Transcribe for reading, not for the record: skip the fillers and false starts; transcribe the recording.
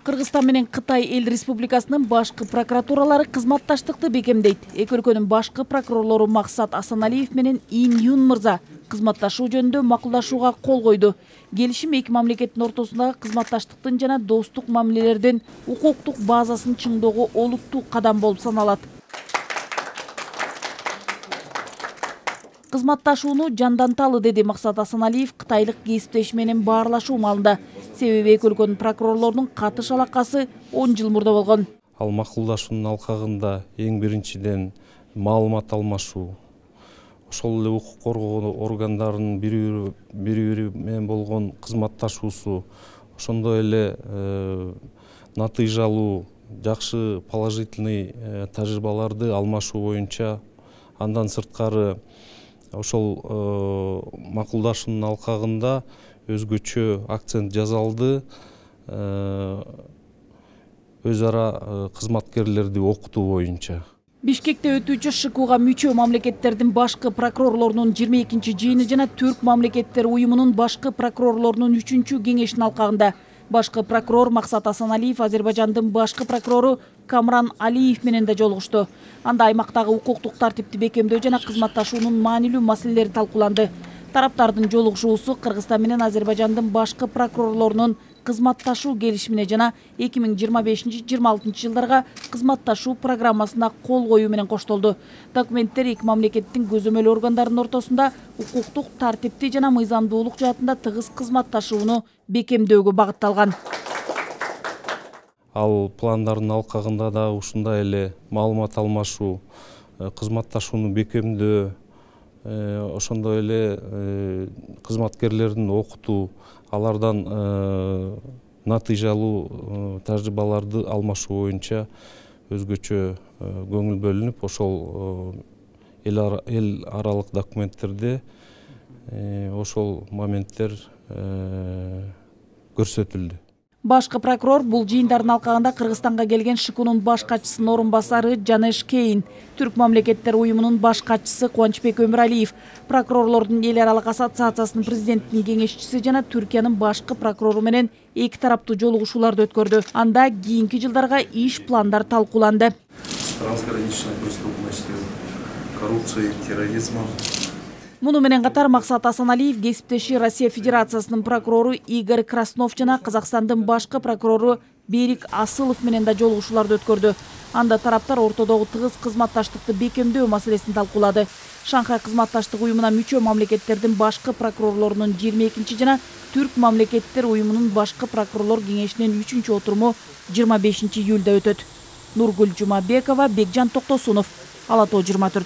Кыргызстан менен Кытай эл республикасынын башкы прокуратуралары кызматташтыкты бекемдейт. Эки өлкөнүн башкы прокурорлору Максат Асаналиев менен Ин Юн мырза кызматташуу жөнүндө макулдашууга кол койду. Келишим эки мамлекеттин ортосундагы кызматташтыктын жана достук мамилелердин укуктук базасын чыңдоого олуттуу кадам болуп саналат. Кызматташууну жанданталы, деди Максат Асаналиев кытайлык кесиптеши менен баарлашуу маалында. Себеби эки өлкөнүн прокурорлорунун катыш алакасы 10 жыл мурда болгон. Ал макулдашуунун алкагында эң биринчиден маалымат алмашуу, ошол эле укук коргоо органдарынын бири менен болгон кызматташуусу, ошондой эле натыйжалуу, жакшы положительный тажрыйбаларды алмашуу боюнча, андан сырткары ошол макулдашуунун алкагында өзгөчө акцент жасалды өз ара кызматкерлерди окутуу боюнча. Бишкекте өтүүчү ШКУга мүчө мамлекеттердин башкы прокурорлорунун 22-чи жыйыны жана Түрк мамлекеттер уюмунун башкы прокурорлорунун 3-чү кеңешинин алкагында башкы прокурор Максат Асаналиев Азербайжандын башкы прокурору Камран Алиев менен да жолугушту. Анда аймактагы укуктук тартипти бекемдөө жана кызматташуунун маанилүү маселелери талкууланды. Тараптардын жолугушуусу Кыргызстан менен Азербайжандын башкы прокурорлорунун кызматташуу келишимине жана 2025-26 жылдарга кызматташуу программасына кол коюу менен коштолду. Документтер эки мамлекеттин көзөмөл органдарынын ортосунда укуктук тартипти жана мыйзамдуулук жаатында тыгыз кызматташууну бекемдөөгө багытталган. Ал пландардын алкагында да ушундай эле маалымат алмашуу, кызматташууну бекемдөө, ошондой эле кызматкерлердин окутуу, алардан натыйжалуу тажрыйбаларды алмашуу боюнча өзгөчө көңүл бөлүнүп, ошол эл аралык документтерде ошол моменттер көрсөтүлдү. Башкы прокурор бул жыйындардын алкагында Кыргызстанга келген ШКУнун баш катчысынын орун басары Жанеш Кейн, Түрк мамлекеттер уюмунун баш катчысы Кубанычбек Өмүралиев, прокурорлордун эл аралык ассоциациясынын президентинин кеңешчиси жана Түркиянын башкы прокурору менен эки тараптуу жолугушууларды өткөрдү. Анда кийинки жылдарга иш пландар талкууланды. Трансграничная преступность, коррупция, терроризм. Муну менен катар Максат Асаналиев кесиптеши Россия Федерациясынын прокурору Игорь Краснов жана Казакстандын башкы прокурору Берик Асылов менен да жолугушууларды өткөрдү. Анда тараптар ортодогу тыгыз кызматташтыкты бекемдөө маселесин талкуулады. Шанхай кызматташтык уюмуна мүчө мамлекеттердин башкы прокурорлорунун 22-чи жана Түрк мамлекеттер уюмунун башкы прокурорлор кеңешинин 3-чү отуруму 25-июлда өтөт. Нургүл Жумабекова, Бекжан Токтосунов, Ала Тоо 24.